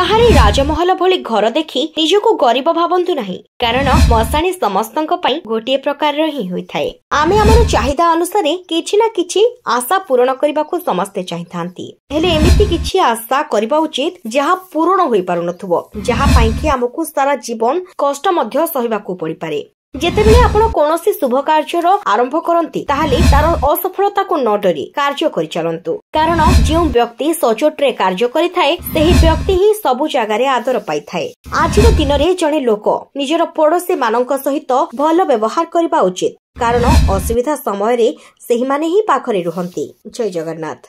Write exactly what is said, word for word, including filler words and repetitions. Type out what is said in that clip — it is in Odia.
ବାହାରେ ରାଜମହଲ ଭଳି ଘର ଦେଖି ନିଜକୁ ଗରିବ ଭାବନ୍ତୁ ନାହିଁ, କାରଣ ମଶାଣି ସମସ୍ତଙ୍କ ପାଇଁ ଗୋଟିଏ ପ୍ରକାରର ହିଁ ହୋଇଥାଏ। ଆମେ ଆମର ଚାହିଦା ଅନୁସାରେ କିଛି ନା କିଛି ଆଶା ପୂରଣ କରିବାକୁ ସମସ୍ତେ ଚାହିଁଥାନ୍ତି। ହେଲେ ଏମିତି କିଛି ଆଶା କରିବା ଉଚିତ ଯାହା ପୂରଣ ହୋଇପାରୁନଥିବ, ଯାହା ପାଇଁକି ଆମକୁ ସାରା ଜୀବନ କଷ୍ଟ ମଧ୍ୟ ସହିବାକୁ ପଡିପାରେ। ଯେତେବେଳେ ଆପଣ କୌଣସି ଶୁଭ କାର୍ଯ୍ୟର ଆରମ୍ଭ କରନ୍ତି, ତାହେଲେ ତାର ଅସଫଳତାକୁ ନ ଡରି କାର୍ଯ୍ୟ କରିଚାଲନ୍ତୁ, କାରଣ ଯେଉଁ ବ୍ୟକ୍ତି ସଚୋଟରେ କାର୍ଯ୍ୟ କରିଥାଏ ସେହି ବ୍ୟକ୍ତି ହିଁ ସବୁ ଜାଗାରେ ଆଦର ପାଇଥାଏ। ଆଜିର ଦିନରେ ଜଣେ ଲୋକ ନିଜର ପଡୋଶୀ ମାନଙ୍କ ସହିତ ଭଲ ବ୍ୟବହାର କରିବା ଉଚିତ, କାରଣ ଅସୁବିଧା ସମୟରେ ସେହିମାନେ ହିଁ ପାଖରେ ରୁହନ୍ତି। ଜୟ ଜଗନ୍ନାଥ।